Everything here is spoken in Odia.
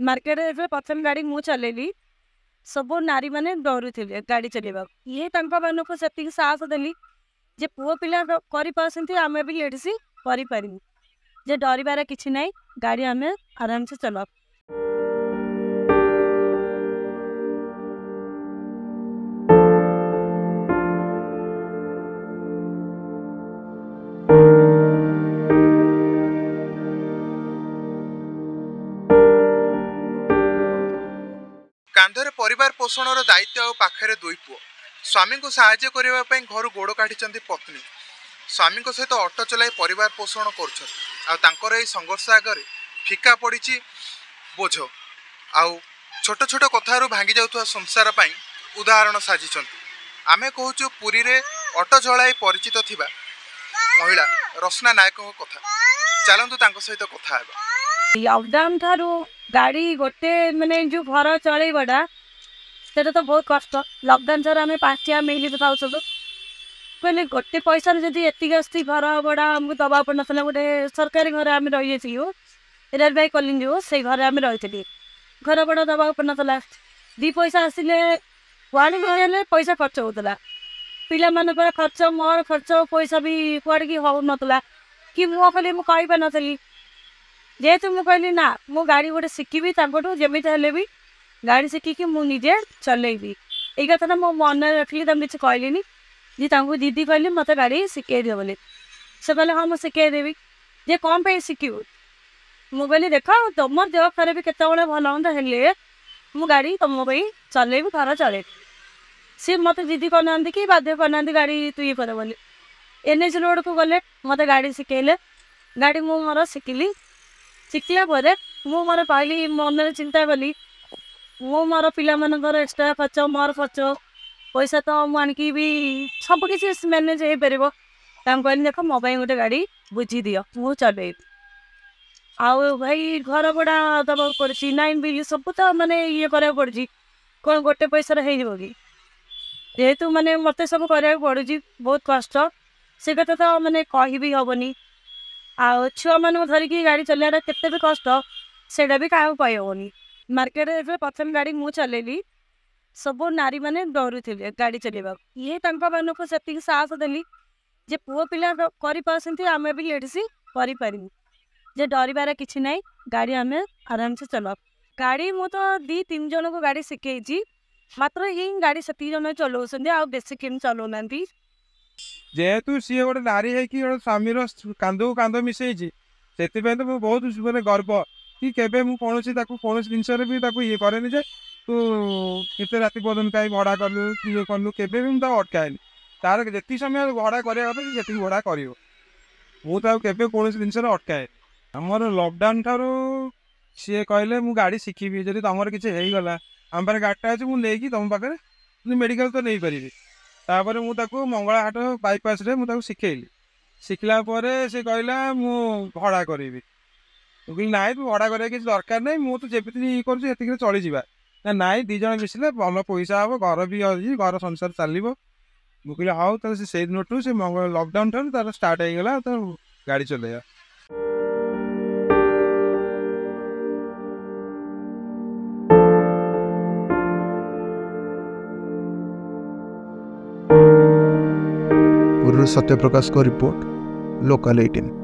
ମାର୍କେଟରେ ଯେତେବେଳେ ପ୍ରଥମ ଗାଡ଼ି ମୁଁ ଚଲେଇଲି, ସବୁ ନାରୀମାନେ ଡରୁଥିଲେ ଗାଡ଼ି ଚଲେଇବାକୁ। ଇଏ ତାଙ୍କ ମାନଙ୍କୁ ସେତିକି ସାହସ ଦେଲି ଯେ ପୁଅ ପିଲା କରିପାରୁଛନ୍ତି, ଆମେ ବି ଲେଡ଼ିସ୍ କରିପାରିବୁ, ଯେ ଡରିବାର କିଛି ନାହିଁ, ଗାଡ଼ି ଆମେ ଆରାମସେ ଚଲାଉ। କାନ୍ଧରେ ପରିବାର ପୋଷଣର ଦାୟିତ୍ୱ ଆଉ ପାଖରେ ଦୁଇ ପୁଅ। ସ୍ୱାମୀଙ୍କୁ ସାହାଯ୍ୟ କରିବା ପାଇଁ ଘରୁ ଗୋଡ଼ କାଢ଼ିଛନ୍ତି ପତ୍ନୀ। ସ୍ୱାମୀଙ୍କ ସହିତ ଅଟୋ ଚଲାଇ ପରିବାର ପୋଷଣ କରୁଛନ୍ତି, ଆଉ ତାଙ୍କର ଏହି ସଂଘର୍ଷ ଆଗରେ ଫିକା ପଡ଼ିଛି ବୋଝ। ଆଉ ଛୋଟ ଛୋଟ କଥାରୁ ଭାଙ୍ଗି ଯାଉଥିବା ସଂସାର ପାଇଁ ଉଦାହରଣ ସାଜିଛନ୍ତି। ଆମେ କହୁଛୁ ପୁରୀରେ ଅଟୋ ଚଳାଇ ପରିଚିତ ଥିବା ମହିଳା ରତ୍ନା ନାୟକଙ୍କ କଥା। ଚାଲନ୍ତୁ ତାଙ୍କ ସହିତ କଥା ହେବା। ଲକଡାଉନ ଠାରୁ ଗାଡ଼ି ଗୋଟେ ମାନେ ଯେଉଁ ଘର ଚଳେଇବାଟା ସେଇଟା ତ ବହୁତ କଷ୍ଟ। ଲକଡାଉନ ଠାରୁ ଆମେ ପାଞ୍ଚଟିଆ ମିଲ୍ ଖାଉଥିଲୁ। କହିଲେ ଗୋଟେ ପଇସାରେ ଯଦି ଏତିକି ଆସୁଛି, ଘର ଭଡ଼ା ଆମକୁ ଦେବାକୁ ପଡ଼ୁନଥିଲା। ଗୋଟେ ସରକାରୀ ଘରେ ଆମେ ରହିଯାଇଥିଲୁ, ରେଳବାଇ କଲୋନୀ ଯେଉଁ, ସେଇ ଘରେ ଆମେ ରହିଥିଲି। ଘର ଭଡ଼ା ଦେବାକୁ ପଡ଼ୁନଥିଲା। 2 ପଇସା ଆସିଲେ କୁଆଡ଼େ ହେଲେ ପଇସା ଖର୍ଚ୍ଚ ହେଉଥିଲା। ପିଲାମାନଙ୍କର ଖର୍ଚ୍ଚ, ମୋର ଖର୍ଚ୍ଚ, ପଇସା ବି କୁଆଡ଼ିକି ହେଉନଥିଲା କି ମୁଁ ଖାଲି ମୁଁ କହିପାରିନଥିଲି। ଯେହେତୁ ମୁଁ କହିଲି ନା, ମୁଁ ଗାଡ଼ି ଗୋଟେ ଶିଖିବି ତାଙ୍କଠୁ, ଯେମିତି ହେଲେ ବି ଗାଡ଼ି ଶିଖିକି ମୁଁ ନିଜେ ଚଲେଇବି। ଏଇ କଥାଟା ମୋ ମନରେ ରଖିଲି, ତାଙ୍କୁ କିଛି କହିଲିନି ଯେ ତାଙ୍କୁ ଦିଦି କହିଲି ମୋତେ ଗାଡ଼ି ଶିଖେଇ ଦିଅ ବୋଲି। ସେ କହିଲେ ହଁ ମୁଁ ଶିଖେଇ ଦେବି। ଯେ କ'ଣ ପାଇଁ ଶିଖିବୁ? ମୁଁ କହିଲି ଦେଖ, ତୁମ ଦେହ ଖରାପ କେତେବେଳେ ଭଲ ମନ୍ଦ ହେଲେ ମୁଁ ଗାଡ଼ି ତୁମ ପାଇଁ ଚଲେଇବି, ଘର ଚଲେଇବି। ସିଏ ମୋତେ ଜିଦି କରିନାହାନ୍ତି କି ବାଧ୍ୟ କରିନାହାନ୍ତି ଗାଡ଼ି ତୁ ଇଏ କର ବୋଲି। ଏନ୍ ଏଚ୍ ରୋଡ଼କୁ ଗଲେ, ମୋତେ ଗାଡ଼ି ଶିଖେଇଲେ। ଗାଡ଼ି ମୁଁ ମୋର ଶିଖିଲି। ଶିଖିଲା ପରେ ମୁଁ ମୋର କହିଲି, ମନରେ ଚିନ୍ତା କଲି, ମୁଁ ମୋର ପିଲାମାନଙ୍କର ଏକ୍ସଟ୍ରା ଖର୍ଚ୍ଚ, ମୋର ଖର୍ଚ୍ଚ ପଇସା ତ ମୁଁ ଆଣିକି ବି ସବୁ କିଛି ମ୍ୟାନେଜ୍ ହେଇପାରିବ। ତାଙ୍କୁ କହିଲି ଦେଖ, ମୋ ପାଇଁ ଗୋଟେ ଗାଡ଼ି ବୁଝି ଦିଅ, ମୁଁ ଚଲେଇବି। ଆଉ ଭାଇ ଘର ଭଡ଼ା ଦେବାକୁ ପଡ଼ୁଛି, ଲାଇନ୍ ବିଲ୍ ସବୁ ତ ମାନେ ଇଏ କରିବାକୁ ପଡ଼ୁଛି। କ'ଣ ଗୋଟେ ପଇସାରେ ହେଇଯିବ କି? ଯେହେତୁ ମାନେ ମୋତେ ସବୁ କରିବାକୁ ପଡ଼ୁଛି, ବହୁତ କଷ୍ଟ। ସେ କଥା ତ ମାନେ କହିବି ହେବନି। ଆଉ ଛୁଆମାନଙ୍କୁ ଧରିକି ଗାଡ଼ି ଚଲେଇବାଟା କେତେ ବି କଷ୍ଟ, ସେଇଟା ବି କାହାକୁ କହିହେବନି। ମାର୍କେଟରେ ଯେତେବେଳେ ପ୍ରଥମ ଗାଡ଼ି ମୁଁ ଚଲେଇଲି, ସବୁ ନାରୀମାନେ ଡରୁଥିଲେ ଗାଡ଼ି ଚଲେଇବାକୁ। ଇଏ ତାଙ୍କ ମାନଙ୍କୁ ସେତିକି ସାହସ ଦେଲି ଯେ ପୁଅ ପିଲା କରିପାରୁଛନ୍ତି, ଆମେ ବି ଲେଡ଼ିସ୍ କରିପାରିବୁ, ଯେ ଡରିବାର କିଛି ନାହିଁ, ଗାଡ଼ି ଆମେ ଆରାମସେ ଚଲାଉ। ଗାଡ଼ି ମୁଁ ତ 2-3 ଜଣଙ୍କୁ ଗାଡ଼ି ଶିଖେଇଛି, ମାତ୍ର ହିଁ ଗାଡ଼ି ସେତିକି ଜଣ ଚଲାଉଛନ୍ତି, ଆଉ ବେଶୀ କେହି ଚଲାଉନାହାନ୍ତି। ଯେହେତୁ ସିଏ ଗୋଟେ ନାରୀ ହେଇକି ଗୋଟେ ସ୍ୱାମୀର କାନ୍ଧକୁ କାନ୍ଧ ମିଶେଇଛି, ସେଥିପାଇଁ ତ ମୁଁ ବହୁତ ମାନେ ଗର୍ବ କି କେବେ ମୁଁ କୌଣସି ତାକୁ କୌଣସି ଜିନିଷରେ ବି ତାକୁ ଇଏ କରେନି ଯେ ତୁ ଏତେ ରାତି ପର୍ଯ୍ୟନ୍ତ କାହିଁ ଭଡ଼ା କଲୁ କି ଇଏ କଲୁ, କେବେ ବି ମୁଁ ତାକୁ ଅଟକାଏନି। ତାର ଯେତିକି ସମୟ ଭଡ଼ା କରିବା କଥା ସେ ସେତିକି ଭଡ଼ା କରିବ, ମୁଁ ତାକୁ କେବେ କୌଣସି ଜିନିଷରେ ଅଟକାଏନି। ଆମର ଲକଡାଉନ ଠାରୁ ସିଏ କହିଲେ ମୁଁ ଗାଡ଼ି ଶିଖିବି, ଯଦି ତମର କିଛି ହେଇଗଲା ଆମ ପାଖରେ ଗାଡ଼ିଟା ଅଛି, ମୁଁ ନେଇକି ତମ ପାଖରେ ମେଡ଼ିକାଲ ତ ନେଇପାରିବି। ତାପରେ ମୁଁ ତାକୁ ମଙ୍ଗଳାହାଟ ବାଇପାସରେ ମୁଁ ତାକୁ ଶିଖେଇଲି। ଶିଖିଲା ପରେ ସେ କହିଲା ମୁଁ ଭଡ଼ା କରିବି। ମୁଁ କହିଲି ନାଇଁ, ତୁ ଭଡ଼ା କରିବା କିଛି ଦରକାର ନାହିଁ, ମୁଁ ତ ଯେମିତି ଇଏ କରୁଛି ସେତିକିରେ ଚଳିଯିବା। ନା ନାଇଁ, 2 ଜଣ ମିଶିଲେ ଭଲ ପଇସା ହେବ, ଘର ବି ଅଛି, ଘର ସଂସାର ଚାଲିବ। ମୁଁ କହିଲି ହଉ। ତାହେଲେ ସେ ସେଇ ଦିନଠୁ ସେ ମଙ୍ଗଳ ଲକଡାଉନ ଠାରୁ ତାର ଷ୍ଟାର୍ଟ ହେଇଗଲା ତ ଗାଡ଼ି ଚଲେଇବା। ପୁରୀରୁ ସତ୍ୟପ୍ରକାଶଙ୍କ ରିପୋର୍ଟ, ଲୋକାଲ 18।